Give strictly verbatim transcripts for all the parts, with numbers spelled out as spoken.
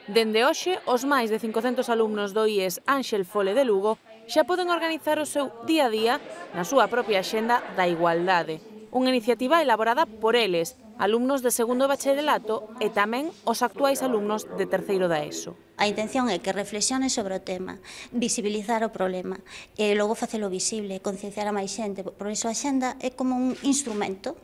Dende hoxe, os máis de cincocentos alumnos do I E S Ánxel Fole de Lugo xa poden organizar o seu día a día na súa propia axenda da igualdade. Unha iniciativa elaborada por eles, alumnos de segundo bacharelato e tamén os actuais alumnos de terceiro da ESO. A intención é que reflexione sobre o tema, visibilizar o problema e logo facelo visible, concienciar a máis xente. Por iso a axenda é como un instrumento,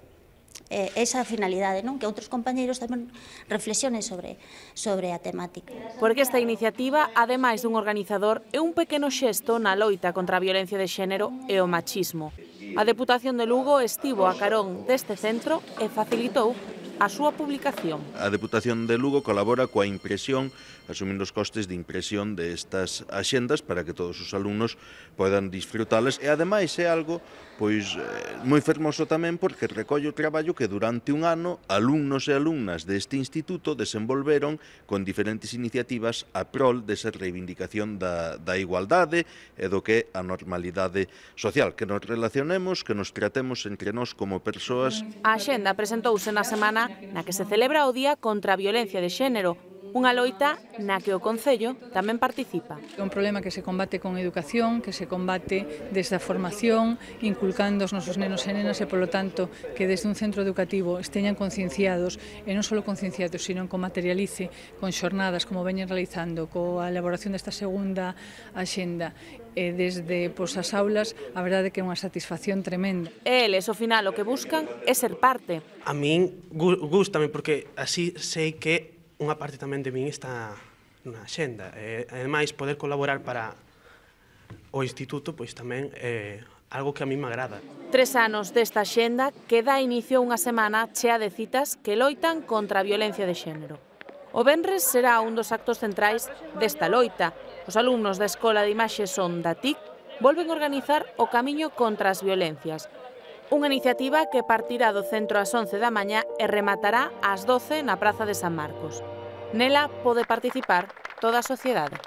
eh, esa finalidade, non? Que outros compañeiros tamén reflexionen sobre, sobre a temática. Porque esta iniciativa, ademais dun organizador, é un pequeno xesto na loita contra a violencia de xénero e o machismo. A Deputación de Lugo estivo a carón deste centro e facilitou a súa publicación. A Deputación de Lugo colabora coa impresión, asumindo os costes de impresión destas axendas para que todos os alumnos podan disfrutalas e ademais é algo pois moi fermoso tamén porque recolle o traballo que durante un ano alumnos e alumnas deste instituto desenvolveron con diferentes iniciativas a prol desa reivindicación da, da igualdade e do que é a normalidade social, que nos relacionemos, que nos tratemos entre nós como persoas. A axenda presentouse na semana na que se celebra o Día contra a Violencia de Xénero, unha loita na que o Concello tamén participa. É un problema que se combate con educación, que se combate desde a formación, inculcando aos nosos nenos e nenas e, polo tanto, que desde un centro educativo esteñan concienciados, e non só concienciados, sino que o materialice con xornadas como veñen realizando, coa elaboración desta segunda axenda, e desde pois, as aulas, a verdade que é unha satisfacción tremenda. E eles, ao final, o que buscan é ser parte. A min gústame porque así sei que unha parte tamén de min está na axenda. E, ademais, poder colaborar para o instituto pois tamén é algo que a mí me agrada. Tres anos desta axenda que dá inicio a unha semana chea de citas que loitan contra a violencia de xénero. O venres será un dos actos centrais desta loita. Os alumnos da Escola de Imaxe Son da T I C volven a organizar o Camiño contra as Violencias, unha iniciativa que partirá do centro ás once da mañá e rematará ás doce na Praza de San Marcos. Nela pode participar toda a sociedade.